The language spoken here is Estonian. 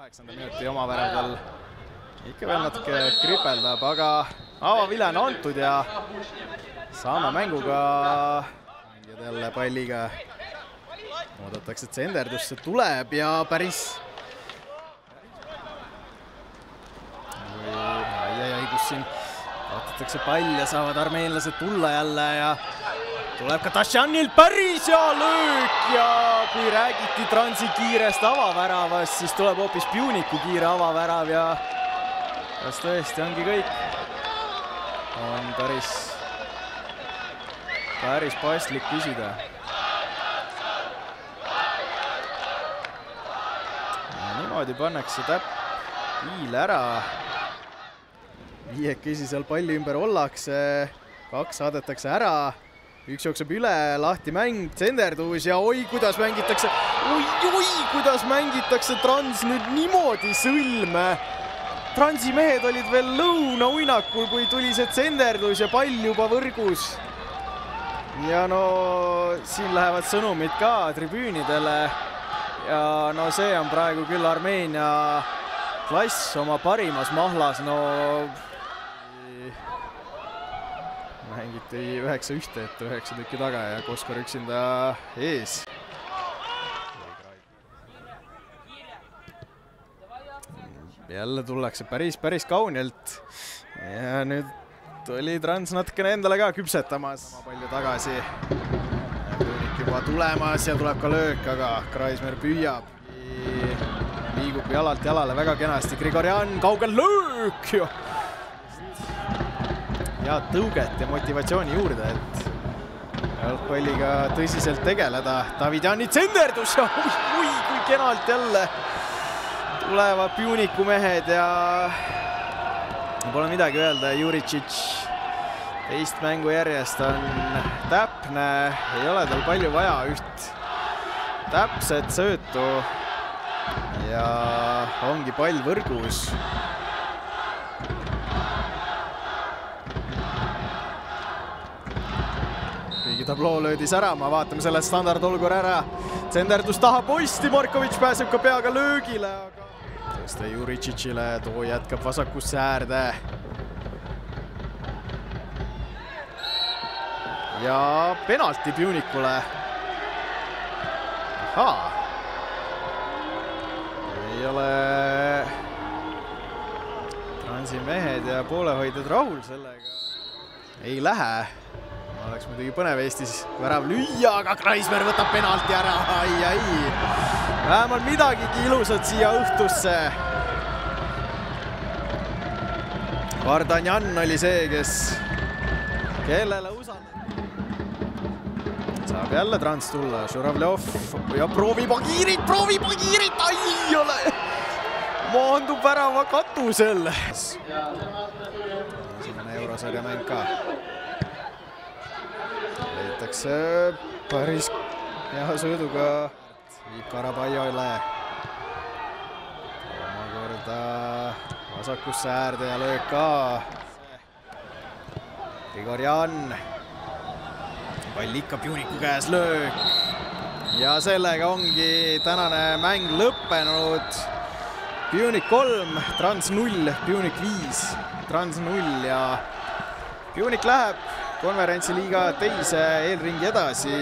8. minuti oma väravdal ikka veel natuke kripeldab, aga avavile on antud ja saame mänguga mängijad jälle palliga. Oodatakse, et senderdusse tuleb ja päris kus siin kaotatakse pall ja saavad armeenlased tulla jälle ja tuleb ka Tasjanilt päris hea löök ja kui räägiti Transi kiirest avaväravast, siis tuleb hoopis Puniku kiire avavärav ja kas tõesti ongi kõik? On päris paslik küsida. Niimoodi pannakse piil ära. Viiekesi seal palli ümber ollakse, 2 saadetakse ära, 1 jookseb üle, lahti mäng, tsenderdus ja oi, kuidas mängitakse, kuidas mängitakse Trans nüüd niimoodi sõlme. Transi mehed olid veel lõunauinakul, kui tuli see tsenderdus ja pall juba võrgus. Ja no siin lähevad sõnumid ka tribüünidele ja no see on praegu küll Armeenia klass oma parimas mahlas, no mängiti 9-1 ette 9 tükki taga ja Koskor üksinda ees. Jälle tullakse päris kaunilt ja nüüd oli Trans natukene endale ka küpsetamas. Palju tagasi. Pünik juba tulemas ja tuleb ka löök, aga Kreismer püüab. Liigub jalalt jalale väga kenasti. Grigorjan, kaugel löök! Ja tõuget ja motivatsiooni juurde, et jalgpalliga tõsiselt tegeleda. Davidjani tsenderdus ja kui kenalt jälle tulevad Puniku mehed ja pole midagi öelda. Juricic teist mängu järjest on täpne, ei ole tal palju vaja, üht täpset söötu ja ongi pall võrgus. Tabloo löödi särama, vaatame selle standardolgur ära. Tsenderdus taha posti, Markovic pääseb ka peaga löögile. Tõste Juricicile, too jätkab vasakusse äärde. Ja penalti Punikule. Ahaa. Ei ole Transi mehed ja poolehoidjad rahul sellega. Ei lähe. Oleks muidugi põnev Eestis värav lüüa, aga Kreismer võtab penalti ära. Ai. Vähemalt midagigi ilusat siia õhtusse. Vardanjan oli see, kellele usaldab. Saab jälle Trans tulla. Žuravljov ja proovib Agirit. Ai ole. Maandub värava katusel. Esimene eurosarja mäng ka. Leitakse päris hea sööduga. Viib Karabaiole. Omakorda vasakusse äärde ja löök ka. Grigorjan. Pall ikka Puniku käes, löök. Ja sellega ongi tänane mäng lõppenud. Punik 3, Trans 0, Punik 5, Trans 0 ja Punik läheb konverentsiliiga teise eelringi edasi.